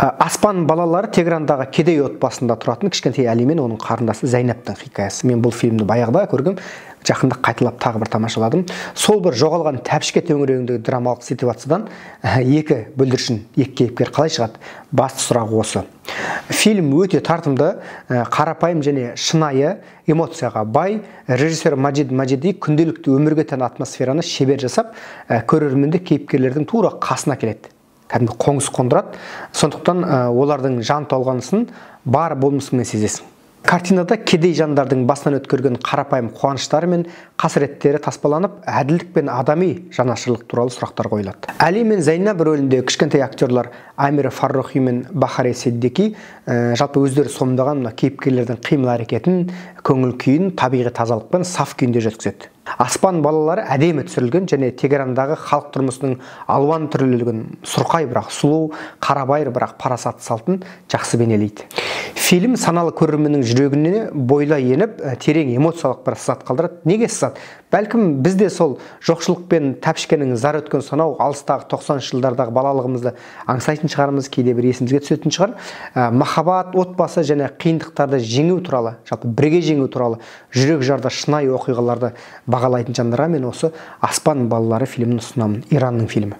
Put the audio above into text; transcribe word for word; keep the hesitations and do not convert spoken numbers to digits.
Аспан балалары Тегерандағы кедей отбасында тұратын кішкентай Әли мен оның қарындасы Зайнаптың хикаясы. Мен бұл фильмді баяғыда көргем, жақында қайталап тағы бір тамашаладым. Сол бір жоғалған тәпішке төңірегіндегі драмалық ситуациядан екі бүлдіршін, екі кейіпкер қалай шығады? Басты сұрақ осы. Фильм өте тартымды, қарапайым және шынайы, эмоцияға бай. Режиссер Маджид Маджиди күнделікті өмірге тән атмосфераны шебер жасап, көрерменді кейіпкерлердің тура қасына келеді. Кәдімгі қоңыз қондырады. Сондықтан олардың жан толғанысын бар болмысымен сезесің. Картинада кедей жандардың басынан өткерген қарапайым қуаныштары мен қасіреттері таспаланып, әділдік пен адами жанашырлық туралы сұрақтар қойылады. Әли мен Зайнап рөлінде кішкентай актерлар Амир Фаррохи мен Бахари Сиддики жалпы өздері сомдаған кейіпкерлердің қимыл әрекетін, көңіл күйін табиғи тазалықпен саф күйінде жеткізеді. Аспан балалары әдемі түсірілген және Тегерандағы халық тұрмысының алуан түрлілігін, сұрқай бірақ сұлу, қарабайыр бірақ парасатты салтын жақсы бейнелейді. Фильм саналы көрерменнің жүрегіне бойлай еніп, терең эмоциялық бір сызат қалдырады. Неге сызат? Бәлкім бізде сол жоқшылық пен тәпішкенің зар өткен сонау алыстағы тоқсаныншы жылдардағы балалығымызды аңсайтын шығармыз, кейде бір есімізге түсетін шығар. Махаббат, отбасы және қиындықтарды жеңу туралы, жалпы бірге жеңу туралы жүрек жарда шынайы оқиғаларды бағалайтын жандарға мен осы Аспан балалары фильмін ұсынамын. Иранның фильмі.